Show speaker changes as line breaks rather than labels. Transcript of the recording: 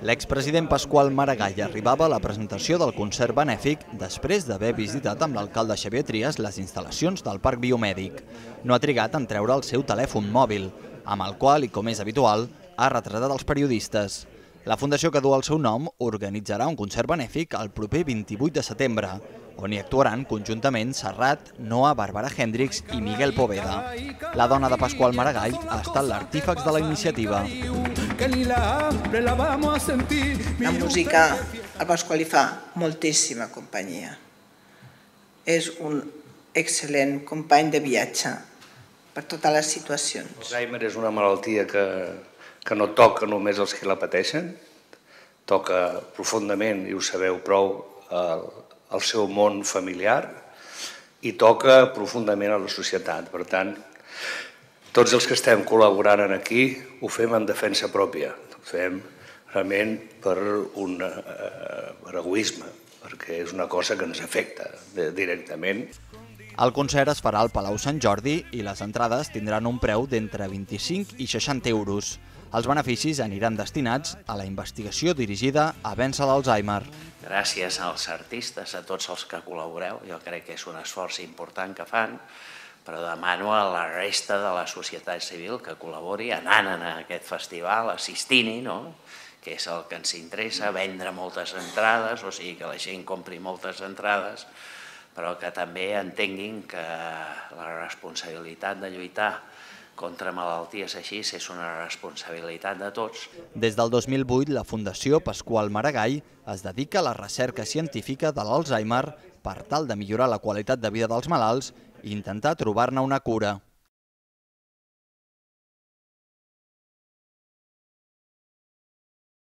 L'expresident Pasqual Maragall arribava a la presentació del concert benèfic després d'haver visitat amb l'alcalde Xavier Trias les instal·lacions del Parc Biomèdic. No ha trigat en treure el seu telèfon mòbil, amb el qual, i com és habitual, ha retratat els periodistes. La fundació que du el seu nom organitzarà un concert benèfic el proper 28 de setembre, on hi actuaran conjuntament Serrat, Noa, Bàrbara Hendricks i Miguel Poveda. La dona de Pasqual Maragall ha estat l'artífex de la iniciativa.
La música al Pasqual li fa moltíssima companyia. És un excel·lent company de viatge per totes les situacions.
Alzheimer és una malaltia que no toca només els que la pateixen, toca profundament, i ho sabeu prou, el seu món familiar i toca profundament a la societat. Per tant, tots els que estem col·laborant aquí ho fem en defensa pròpia, ho fem realment per egoisme, perquè és una cosa que ens afecta directament.
El concert es farà al Palau Sant Jordi i les entrades tindran un preu d'entre 25 i 60 euros. Els beneficis aniran destinats a la investigació dirigida a vèncer l'Alzheimer.
Gràcies als artistes, a tots els que col·laboreu. Jo crec que és un esforç important que fan, però demano a la resta de la societat civil que col·labori anant a aquest festival, assistint-hi, que és el que ens interessa, vendre moltes entrades, o sigui que la gent compri moltes entrades, però que també entenguin que la responsabilitat de lluitar contra malalties així és una responsabilitat de tots.
Des del 2008, la Fundació Pasqual Maragall es dedica a la recerca científica de l'Alzheimer per tal de millorar la qualitat de vida dels malalts i intentar trobar-ne una cura.